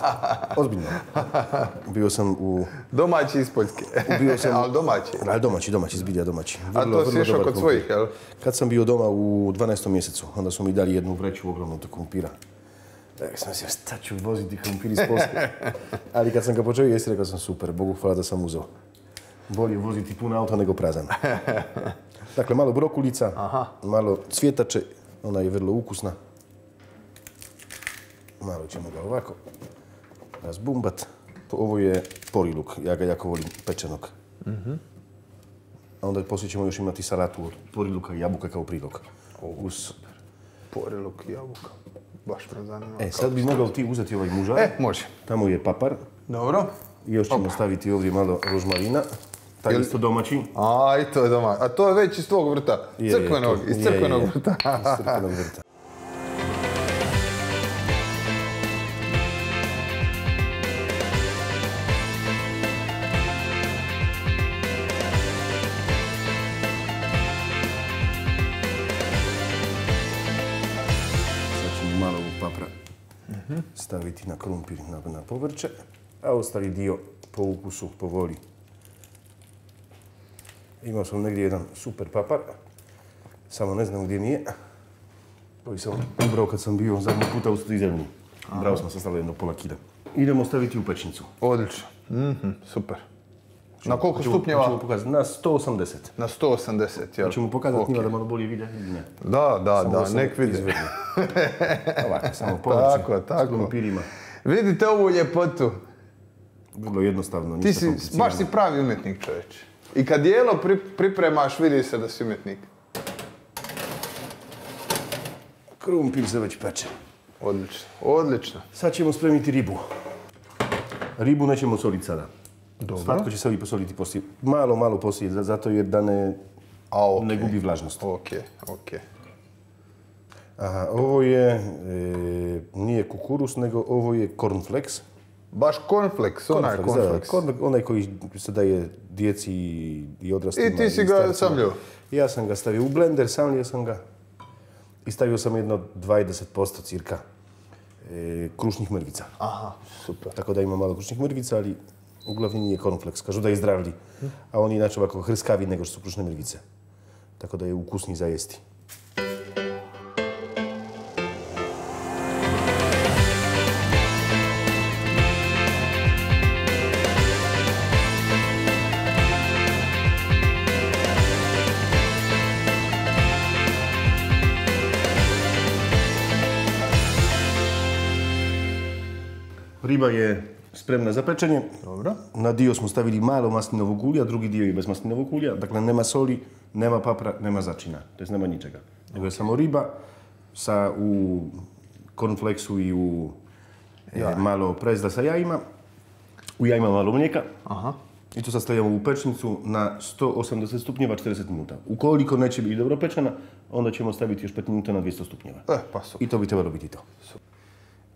Ozbiljno. Bio sam u... Domaći iz Poljske. Bio sam... Ali domaći. Ali domaći, domaći, zbilja domaći. A Vrlo, to si vrlo išao dobar kod krumpir. svojih, jel? Kad sam bio doma u dvanaestom mjesecu, onda su mi dali jednu vreću ogromnu tog krumpira. Tak sam mislio, šta ću voziti krumpir iz Poljske. Ali kad sam ga počeo jesti, rekao sam super, Bogu hvala da sam uzeo. Bolje voziti pun auto nego prazan. Dakle, malo brokulica, Aha. malo cvjetače, ona je vrlo ukusna. Malo ćemo ga ovako razbumbat. Ovo je poriluk, ja ga jako volim pečenog. A onda poslije ćemo još imati salatu od poriluka i jabuka kao prilog. Uz... Poriluk i jabuka. Baš me zanima. E, sad bi mogao ti uzeti ovaj mužar. E, može. Tamo je papar. Dobro. I još ćemo staviti ovdje malo rožmarina. Taj Jel- isto domaći. A, i to je doma. A to je već iz tvog vrta. Je, je, Crkvenog, to- iz je, crkvenog je. vrta. Iz crkvenog vrta. Sad ćemo malo ovog papra staviti na krumpir, na, na povrće, a ostali dio po ukusu, po voli. Imao sam negdje jedan super papar, samo ne znam gdje mi je. Koji sam ubrao kad sam bio zadnji puta u Strizemlji. Brao sam se stavio jedno pola kila. Idemo staviti u pečnicu. Odlično. Mhm, super. Na koliko Hoćemo- stupnjeva? hoćemo pokazati na sto osamdeset. Na sto osamdeset, jel? Hoćemo pokazati Ok. njima da malo bolje vide ili ne. Da, da, Samo da, sam nek vidi. izvrni. Ovako, samo povrće Tako, s tako. krumpirima. Vidite ovu ljepotu. Vrlo jednostavno, Ti ništa si, komplicirano. baš si pravi umjetnik, čovječe. I kad jelo pri- pripremaš, vidi se da si umjetnik. Krumpir se već peče. Odlično, odlično. Sad ćemo spremiti ribu. Ribu nećemo soliti sada. Dobro. Slatko će se ovdje posoliti poslije. Malo, malo poslije, za- zato jer da ne, A, ok. ne gubi vlažnost. Ok, ok. Aha, ovo je, e, nije kukuruz, nego ovo je cornflakes. Baš cornflakes, onaj Cornflakes, da, cornflakes. corn- onaj koji se daje djeci i odraslima. I ti si ga starcima. samljio? Ja sam ga stavio u blender, samljio sam ga. I stavio sam jedno dvadeset posto cirka e, krušnih mrvica. Aha, super. Tako da ima malo krušnih mrvica, ali uglavnom nije cornflakes. Kažu da je zdravlji, a on je inače ovako hrskavi nego što su krušne mrvice. Tako da je ukusniji za jesti. riba je spremna za pečenje. Dobro. Na dio smo stavili malo maslinovog ulja, drugi dio je bez maslinovog ulja. Dakle, nema soli, nema papra, nema začina. To jest nema ničega. Nego je samo riba sa u cornflakesu i u ja. malo prezda sa jajima. U jajima malo mlijeka. Aha. I to sad stavljamo u pečnicu na sto osamdeset stupnjeva četrdeset minuta. Ukoliko neće biti dobro pečena, onda ćemo staviti još pet minuta na dvjesto stupnjeva. E, pa super. I to bi trebalo biti to. Super.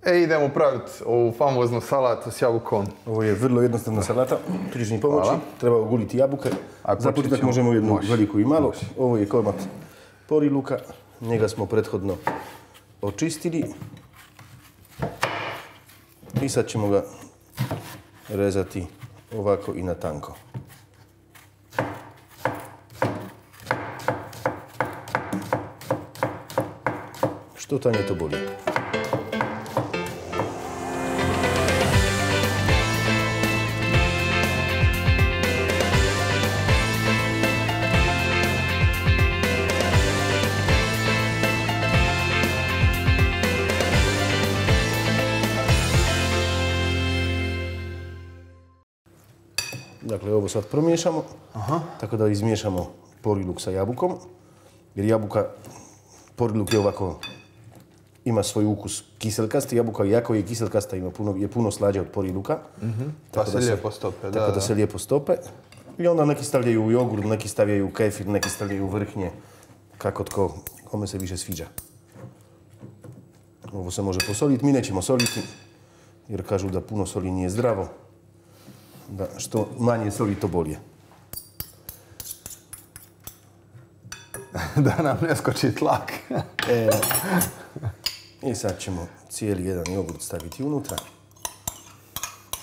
E, idemo praviti ovu famoznu salatu s jabukom. Ovo je vrlo jednostavna salata. Tu ćeš mi pomoći. Hvala. Treba oguliti jabuke. Za početak možemo jednu Moš. veliku i malo. Moš. Ovo je komad poriluka. Njega smo prethodno očistili. I sad ćemo ga rezati ovako i na tanko. Što tanje to bolje. Dakle, ovo sad promiješamo, Aha. tako da izmiješamo poriluk sa jabukom, jer jabuka, poriluk je ovako, ima svoj ukus kiselkasti, jabuka iako je kiselkasta ima puno, je puno slađa od poriluka. Mm-hmm. Pa se lijepo stope, da. Tako da, da se lijepo stope. I onda neki stavljaju u jogurt, neki stavljaju u kefir, neki stavljaju u vrhnje, kako tko, kome se više sviđa. Ovo se može posoliti, mi nećemo soliti, jer kažu da puno soli nije zdravo. Da, što manje soli, to bolje. Da nam ne skoči tlak. e, I sad ćemo cijeli jedan jogurt staviti unutra.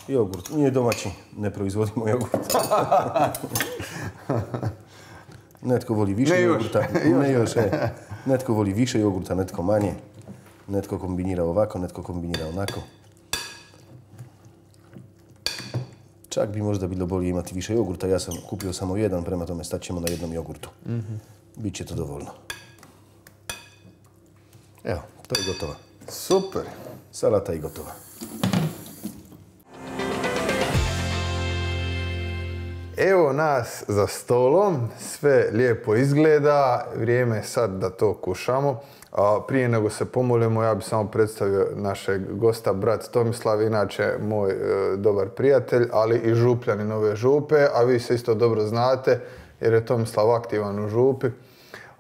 Jogurt nije domaći, ne proizvodimo jogurt. Netko voli više ne jogurta. Još. Ne još, e. Netko voli više jogurta, netko manje. Netko kombinira ovako, netko kombinira onako. Čak bi možda bilo bolje imati više jogurta. Ja sam kupio samo jedan, prema tome stat ćemo na jednom jogurtu. Mm-hmm. Biće to dovoljno. Evo, to je gotova. Super. Salata je gotova. Evo nas za stolom, sve lijepo izgleda, vrijeme je sad da to kušamo. A prije nego se pomolimo, ja bih samo predstavio našeg gosta, brat Tomislav, inače moj e, dobar prijatelj, ali i župljanin ove župe, a vi se isto dobro znate jer je Tomislav aktivan u župi.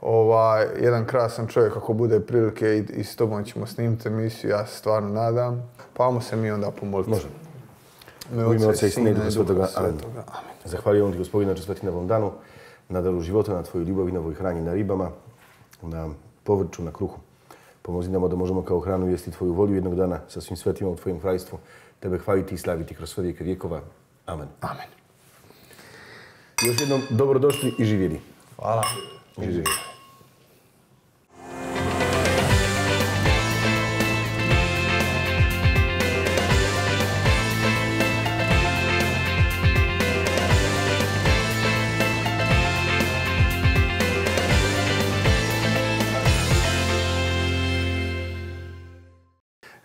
Ovaj, jedan krasan čovjek, ako bude prilike i, i s tobom ćemo snimiti emisiju, ja se stvarno nadam. Pa ajmo se mi onda pomoliti. Možemo. U ime Oca i Sina i Duha Svetoga. Amen. Zahvaljujem ti, Gospodine, na čestvrti na ovom danu, na daru života, na tvoju ljubav i na ovoj hrani, na ribama, na povrću, na kruhu. Pomozi nam da možemo kao hranu jesti tvoju volju jednog dana sa svim svetima u tvojim kraljstvu, tebe hvaliti i slaviti kroz sve vijeke vjekova. Amen. Amen. Još jednom dobrodošli i živjeli. Hvala. Živjeli.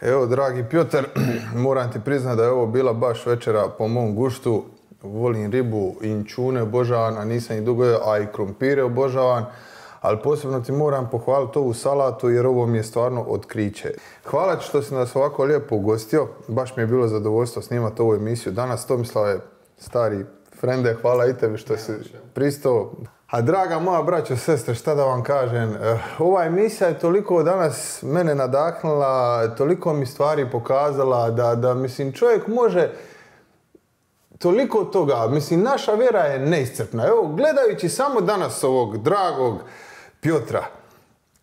Evo, dragi Pjotar, moram ti priznati da je ovo bila baš večera po mom guštu. Volim ribu, inćune obožavam, a nisam ih dugo jeo, a i krompire obožavam. Ali posebno ti moram pohvaliti ovu salatu jer ovo mi je stvarno otkriće. Hvala ti što si nas ovako lijepo ugostio. Baš mi je bilo zadovoljstvo snimati ovu emisiju danas. Tomislave, stari frende, hvala i tebi što si pristao. A draga moja braćo, sestre, šta da vam kažem, ova emisija je toliko danas mene nadahnula, toliko mi stvari pokazala da, da mislim, čovjek može toliko toga, mislim, naša vjera je neiscrpna. Evo, gledajući samo danas ovog dragog Pjotra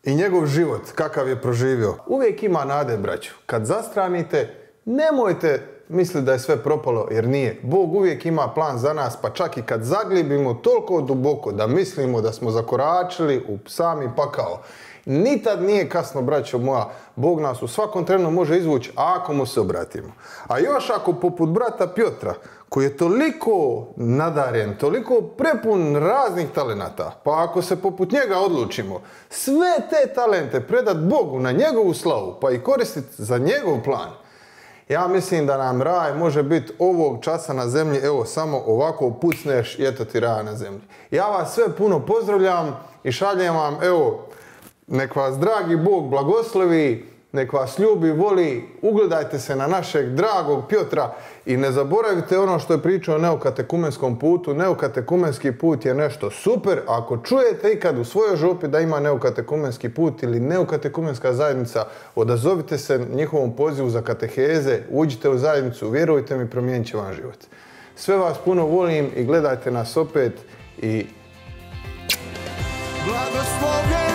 i njegov život, kakav je proživio, uvijek ima nade, braćo. Kad zastranite, nemojte misliti da je sve propalo, jer nije. Bog uvijek ima plan za nas, pa čak i kad zaglibimo toliko duboko da mislimo da smo zakoračili u sami pakao. Ni tad nije kasno, braćo moja. Bog nas u svakom trenu može izvući ako mu se obratimo. A još ako poput brata Pjotra, koji je toliko nadaren, toliko prepun raznih talenata, pa ako se poput njega odlučimo sve te talente predat Bogu na njegovu slavu, pa i koristiti za njegov plan, Ja mislim da nam raj može biti ovog časa na zemlji, evo samo ovako pucneš i eto ti raj na zemlji. Ja vas sve puno pozdravljam i šaljem vam, evo, nek vas dragi Bog blagoslovi, nek vas ljubi, voli, ugledajte se na našeg dragog Pjotra i ne zaboravite ono što je pričao o neokatekumenskom putu. Neokatekumenski put je nešto super. Ako čujete ikad u svojoj župi da ima neokatekumenski put ili neokatekumenska zajednica, odazovite se njihovom pozivu za kateheze, uđite u zajednicu, vjerujte mi, promijenit će vam život. Sve vas puno volim i gledajte nas opet i blagoslovljen!